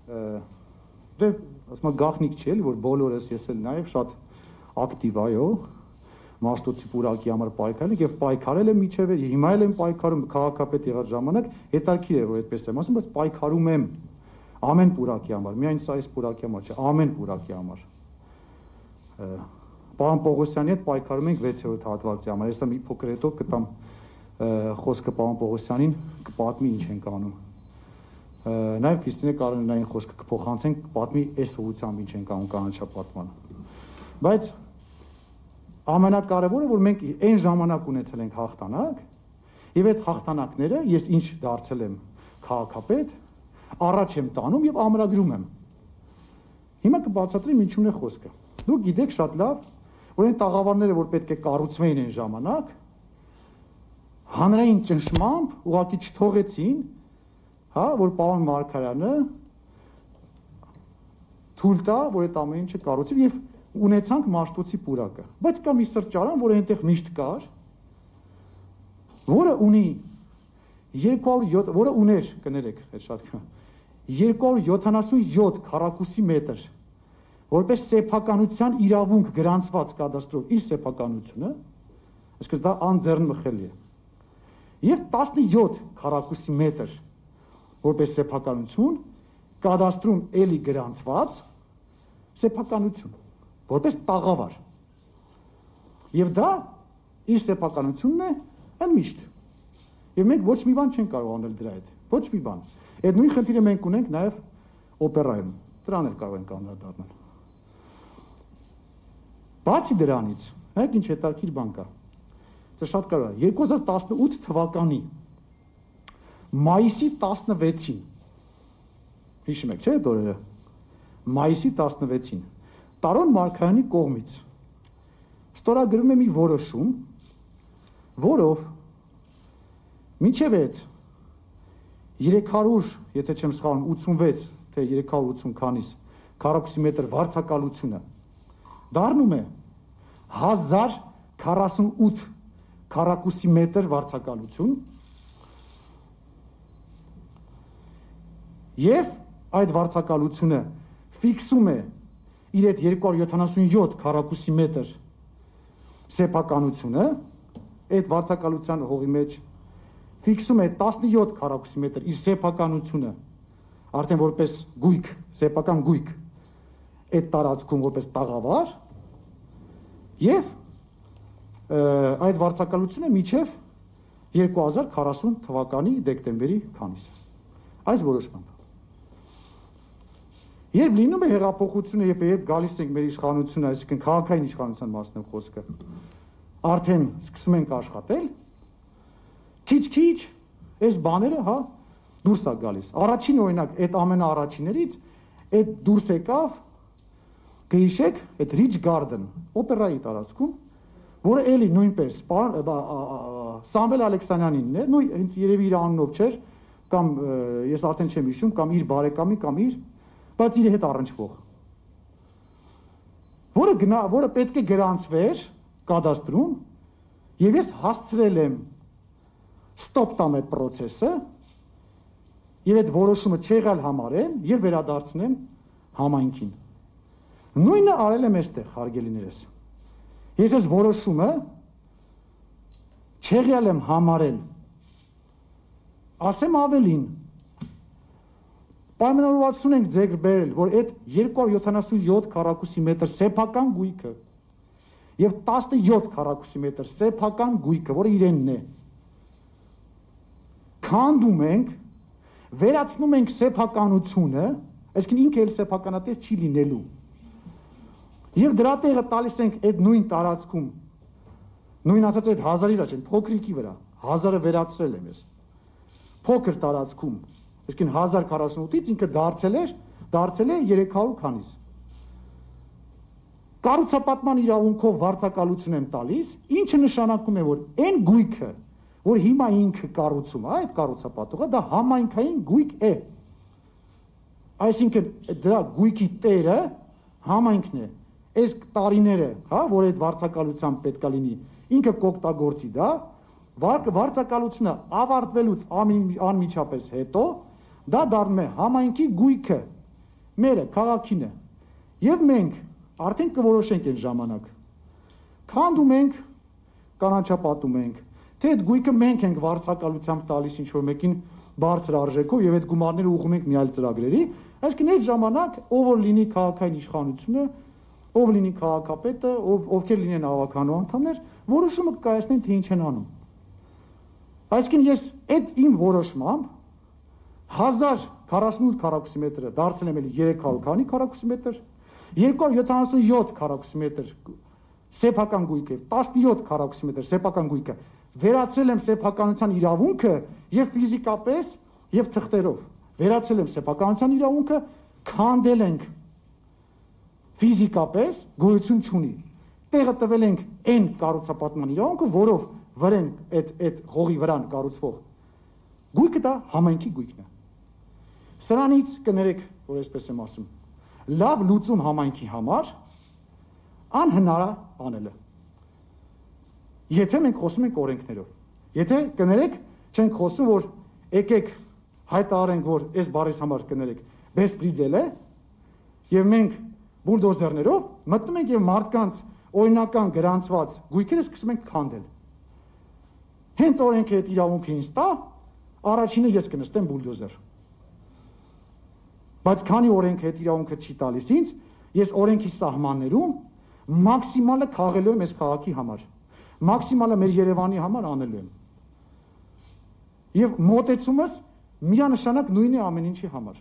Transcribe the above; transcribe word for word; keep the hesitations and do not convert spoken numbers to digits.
դե ասում եմ գաղտնիք չի էլի, որ բոլորս ես էլ նաև շատ ակտիվ այո Մաշտոցի պուրակի համար պայքարել եւ պայքարել եմ միջև հիմա էլ եմ պայքարում քաղաքապետ եղած ժամանակ հետարքիր է որ այդպես եմ ասում բայց պայքարում եմ ամեն պուրակի համար միայն սա այս պուրակի համար չէ ամեն պուրակի համար Պարոն Պողոսյանի հետ պայքարում ենք վեցերորդ հատվածի համար հեսա մի փոքր հետո կտամ խոսքը պարոն Պողոսյանին կպատմի ինչ ենք անում նաև Քրիստինե Կարինային խոսքը կփոխանցենք պատմի այս ուղղությամբ ինչ ենք անում կանաչապատման բայց ամենակարևորը որ մենք այն ժամանակ ունեցել ենք հաղթանակ եւ այդ հաղթանակները ես ինչ դարձել եմ քաղաքապետ առաջ եմ տանում եւ ամրագրում եմ հիմա կբացատրեմ ինչու՞ն է խոսքը դուք գիտեք շատ լավ որ այն տաղավարները որ պետք է կառուցվեին այն ժամանակ հանրային ճնշմամբ ուղղակի չթողեցին հա որ պարոն Մարգարյանը թույլ տա որ այդ ամեն ինչը կառուցվի եւ ունեցանք Մաշտոցի պուրակը, բայց կա մի սրճարան, որը այնտեղ միշտ կար, որը ունի երկու հարյուր յոթ, որը ուներ, կներեք, այդ շատ երկու հարյուր յոթանասունյոթ քառակուսի մետր, որպես սեփականության իրավունք գրանցված կադաստրով իր սեփականությունը, այսինքն դա անձեռնմխելի է։ Եվ տասնյոթ քառակուսի մետր, որպես սեփականություն, կադաստրում էլի գրանցված սեփականություն որպես տաղավար եւ դա իր սեփականությունն է ընդմիշտ եւ մենք ոչ մի բան չենք կարող անել դրա հետ ոչ մի բան այդ նույն խնդիրը մենք ունենք նաեւ օպերայում դրան էլ կարող ենք անդրադառնալ բացի դրանից հայք ինչ հետաքրքիր բան կա դա շատ կարևոր է երկու հազար տասնութ թվականի մայիսի տասնվեցին հիշում եք չէ՞ այդ օրերը մայիսի տասնվեցին Տարոն Մարգարյանի կողմից ստորագրվում է մի որոշում, որով մինչև այդ երեք հարյուր, եթե չեմ սխալվում, ութսունվեց, թե երեք հարյուր ութսուն քանիս քառակուսի մետր վարձակալությունը դառնում է հազար քառասունութ քառակուսի մետր վարձակալություն եւ այդ վարձակալությունը ֆիքսում է իր այդ երկու հարյուր յոթանասունյոթ քառակուսի մետր սեփականությունը այդ վարձակալության հողի մեջ ֆիքսում է տասնյոթ քառակուսի մետր իր սեփականությունը արդեն որպես գույք սեփական գույք այդ տարածքում որպես տաղավար եւ այդ վարձակալությունը միջև երկու հազար քառասուն թվականի դեկտեմբերի քանիսը այս որոշմամբ Երբ լինում է հեղափոխությունը, երբ երբ գալիս ենք մեր իշխանությունը, այսինքն քաղաքային իշխանության մասն է խոսքը, արդեն սկսում ենք աշխատել, քիչ-քիչ այս բաները, հա, դուրս է գալիս։ Առաջին օրինակ, այդ ամենաառաջիներից այդ դուրս եկավ, կհիշեք, այդ Rich Garden, օպերայի տարածքում, որը էլի նույնպես Սամվել Ալեքսանյանինն է, նույն հենց երևի իր անունով չէր, կամ ես արդեն չեմ հիշում, կամ իր բարեկամի, կամ իր բայց իր հետ առնչվող որը գնա որը պետք է գրանցվեր կադաստրում եւ ես հասցրել եմ ստոպ տամ այդ process-ը եւ այդ որոշումը չեղալ համարեմ եւ վերադարձնեմ համայնքին նույնը արել եմ այստեղ հարգելիներս ես այս որոշումը չեղյալ եմ համարել ասեմ ավելին Պայմանավորվածություն ենք ձեր բերել, որ այդ երկու հարյուր յոթանասունյոթ քառակուսի մետր սեփական գույքը եւ տասնյոթ քառակուսի մետր սեփական գույքը, որը իրենն է, քանդում ենք, վերացնում ենք սեփականությունը, այսինքն ինքը էլ սեփականատես չի լինելու։ Եվ դրա տեղը տալիս ենք այդ նույն տարածքում, նույն ասած այդ հազարի վրա չեն, փոքրիկի վրա, հազարը վերացրել եմ ես, փոքր տարածքում, այսինքն հազար քառասունութից ինքը դարձել էր, դարձել է երեք հարյուր քանիս։ Կառուցապատման իրավունքով վարձակալություն եմ տալիս, ինչը նշանակում է, որ այն գույքը, որ հիմա ինքը կառուցում է, այդ կառուցապատողը, դա համայնքային գույք է։ Այսինքն դրա գույքի տերը համայնքն է։ Այս տարիները, հա, որ այդ վարձակալությամբ պետք է լինի, ինքը կօգտագործի դա, վարձակալությունը ավարտվելուց անմիջապես հետո դա դառնում է համայնքի գույքը մերը քաղաքին է։ Եվ մենք արդեն կորոշենք այն ժամանակ։ Քանդում ենք, կանաչապատում ենք, թե այդ գույքը մենք ենք վարձակալությամբ տալիս ինչ-որ մեկին բարձր արժեքով եւ այդ գումարները ուղղում ենք մի այլ ծրագրերի, այսինքն այդ ժամանակ ով որ լինի քաղաքային իշխանությունը, ով լինի քաղաքապետը, ով ովքեր լինեն ավականու անդամներ, որոշումը կկայացնեն թե ինչ են անում։ Այսինքն ես այդ իմ որոշմամբ հազար քառասունութ քառակուսի մետրը դարձել եմ էլի երեք հարյուր քանի քառակուսի մետր, երկու հարյուր յոթանասունյոթ քառակուսի մետր սեփական գույքը, տասնյոթ քառակուսի մետր սեփական գույքը վերացրել եմ սեփականության իրավունքը եւ ֆիզիկապես եւ թղթերով վերացրել եմ սեփականության իրավունքը, քանդել ենք ֆիզիկապես գոյություն չունի, տեղը տվել ենք այն կառուցապատման իրավունքը, որով վրեն այդ այդ հողի վրան կառուցվող գույքը դա համայնքի գույքն է։ Սրանից կներեք, որ այսպես եմ ասում, լավ լուծում համայնքի համար անհնար է անելը։ Եթե մենք խոսում ենք օրենքներով, եթե կներեք, չենք խոսում, որ եկեք հայտարարենք, որ այս բառից համար կներեք, բեսպրիձել է, եւ մենք բուլդոզերներով մտնում ենք եւ մարդկանց օրինական գրանցված գույքերը սկսում ենք քանդել։ Հենց օրենքը այդ իրավունքը ինձ տա, առաջինը ես կնստեմ բուլդոզեր։ Բայց քանի օրենքը այդ իրավունքը չի տալիս ինձ, ես օրենքի սահմաններում մաքսիմալը քաղելու եմ այս քաղաքի համար, մաքսիմալը մեր Երևանի համար անելու եմ։ Եվ մոտեցումս միանշանակ նույնն է ամեն ինչի համար։